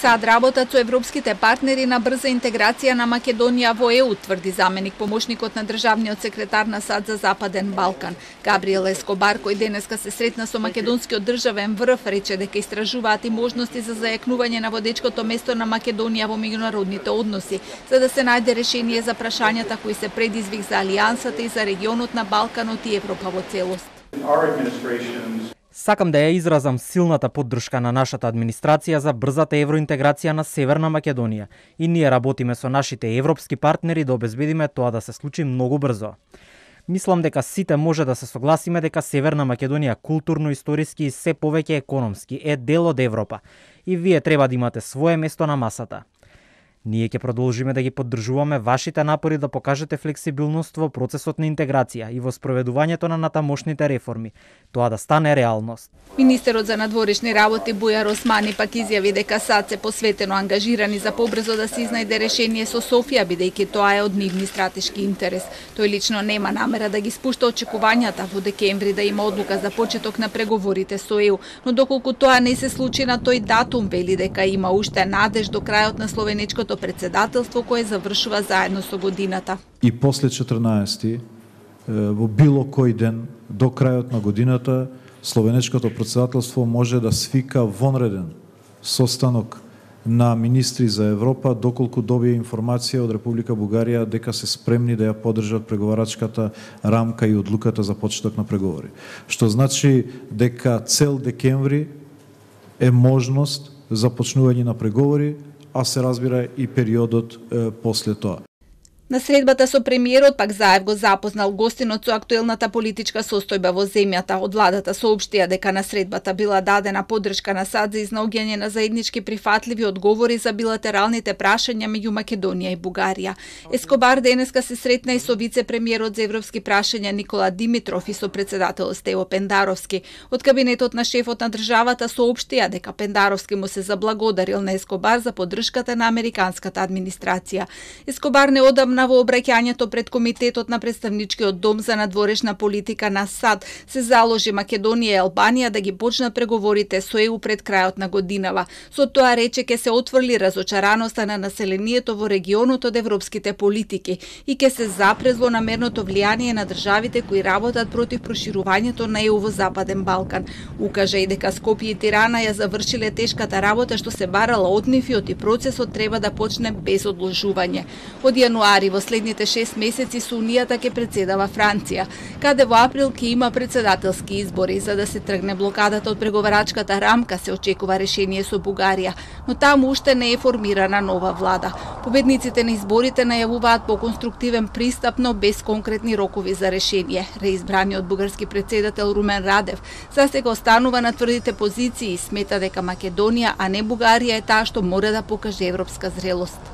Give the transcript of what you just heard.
САД работат со европските партнери на брза интеграција на Македонија во ЕУ, тврди заменик помошникот на државниот секретар на САД за Западен Балкан. Габриел Ескобар, кој денеска се сретна со македонскиот државен врв, рече дека истражуваат и можности за зајакнување на водечкото место на Македонија во меѓународните односи, за да се најде решение за прашањата кои се предизвик за алијансата и за регионот на Балканот и Европа во целост. Сакам да ја изразам силната поддршка на нашата администрација за брзата евроинтеграција на Северна Македонија и ние работиме со нашите европски партнери да обезбедиме тоа да се случи многу брзо. Мислам дека сите може да се согласиме дека Северна Македонија културно, историски и се повеќе економски е дел од Европа и вие треба да имате свое место на масата. Ние ќе продолжиме да ги поддржуваме вашите напори да покажете флексибилност во процесот на интеграција и во спроведувањето на натамошните реформи, тоа да стане реалност. Министерот за надворешни работи Бујар Османи пак изјави дека САД се посветено ангажирани за побрзо да се изнајде решение со Софија, бидејќи тоа е од нивни стратешки интерес. Тој лично нема намера да ги спушта очекувањата во декември да има одлука за почеток на преговорите со ЕУ, но доколку тоа не се случи на тој датум, вели дека има уште надеж до крајот на словенечкото председателство кое завршува заедно со годината. И после 14 во било кој ден до крајот на годината словенечкото председателство може да свика вонреден состанок на министри за Европа доколку добие информација од Република Бугарија дека се спремни да ја поддржат преговарачката рамка и одлуката за почеток на преговори. Што значи дека цел декември е можност за почнување на преговори, а се разбира и периодот после тоа. На средбата со премиерот пак Заев го запознал гостинот со актуелната политичка состојба во земјата. Од владата соопштија дека на средбата била дадена поддршка на САД за изнаоѓање на заеднички прифатливи одговори за билатералните прашања меѓу Македонија и Бугарија. Ескобар денеска се сретна и со вице-премиерот за европски прашања Никола Димитров и со председател Стево Пендаровски. Од кабинетот на шефот на државата соопштија дека Пендаровски му се заблагодарил на Ескобар за поддршката на американската администрација. Ескобар неодамна во обраќањето пред Комитетот на Представничкиот дом за надворешна политика на САД се заложи Македонија и Албанија да ги почнат преговорите со ЕУ пред крајот на годинава. Со тоа рече ќе се отфрли разочараноста на населението во регионот од европските политики и ќе се запре злонамерното влијание на државите кои работат против проширувањето на ЕУ во Западен Балкан. Укажа и дека Скопје и Тирана ја завршиле тешката работа што се барала од нив и процесот треба да почне без одложување. Од јануари во следните 6 месеци со Унијата ќе председава Франција, каде во април ќе има председателски избори. За да се тргне блокадата од преговарачката рамка се очекува решение со Бугарија, но таму уште не е формирана нова влада. Победниците на изборите најавуваат поконструктивен пристап, но без конкретни рокови за решение. Реизбраниот бугарски председател Румен Радев засега останува на тврдите позиции и смета дека Македонија, а не Бугарија е таа што мора да покаже европска зрелост.